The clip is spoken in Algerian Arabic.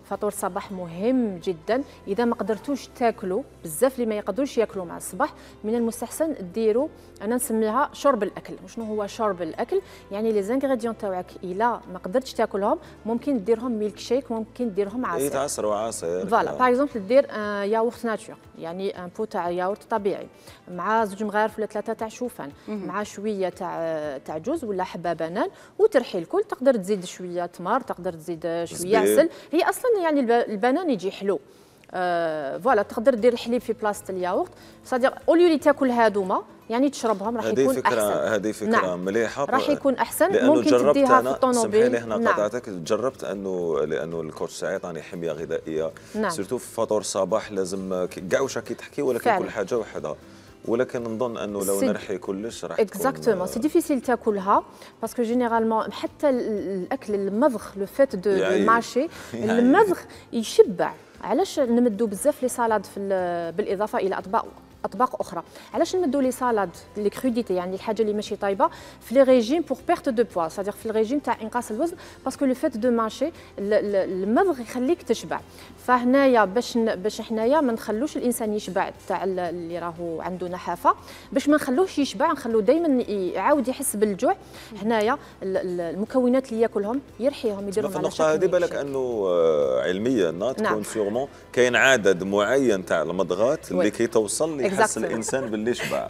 فطور الصباح مهم جدا. اذا ما قدرتوش تاكلوا بزاف اللي ما يقدروش ياكلوا مع الصباح، من المستحسن ديروا، انا نسميها شرب الاكل. وشنو هو شرب الاكل؟ يعني لي زانغريديون تاعك الا ما قدرتش تاكلهم ممكن ديرهم ميلك شيك، ممكن ديرهم عصير. يتعصروا عصير. فوالا باغ اكزومبل دير ياغورت ناتور، يعني ان بو تاع ياغورت طبيعي مع زوج مغارف ولا ثلاثه تاع شوفان مع شويه تاع جوز ولا حبه بنان وترحي الكل. تقدر تزيد شويه تمر، تقدر تزيد شويه عسل. هي اصلا يعني البنان يجي حلو. فوالا تقدر دير الحليب في بلاصه الياغورت، صادق اوليو اللي تاكل هادوما يعني تشربهم راح يكون احسن. هذه فكره نعم. مليحه، راح يكون احسن. ممكن تديها في الطوموبيل. سمحي لي هنا قطعتك. جربت لانه الكوتش تاعي عطاني حميه غذائيه. نعم. سيرتو في فطور الصباح لازم كاع واش راكي تحكي، ولكن كل حاجه وحدها. ولكن نظن انه لو نرحي كلش راح تكون اكزاكتومون سي ديفيسيل تاكلها باسكو جينيرالمون حتى الاكل المضغ لو فات دو مارشي المضغ يشبع. علاش نمدوا بزاف لي سالاد بالاضافه الى اطباق اخرى؟ علاش نمدوا لي سالاد لي كروديتي يعني الحاجه اللي ماشي طايبه في لي ريجيم بور بيرت دو بوا، صادق في الريجيم تاع انقاص الوزن، باسكو لو فات دو مارشي المضغ يخليك تشبع. فهنايا باش حنايا ما نخلوش الانسان يشبع تاع اللي راهو عنده نحافه، باش ما نخلوهش يشبع نخلوه دائما يعاود يحس بالجوع. هنايا المكونات اللي ياكلهم يرحيهم يديرهم على شكل. هذه بالك انه علميا تكون سيغمون كاين عدد معين تاع المضغات اللي كي توصل يحس الانسان باللي شبع.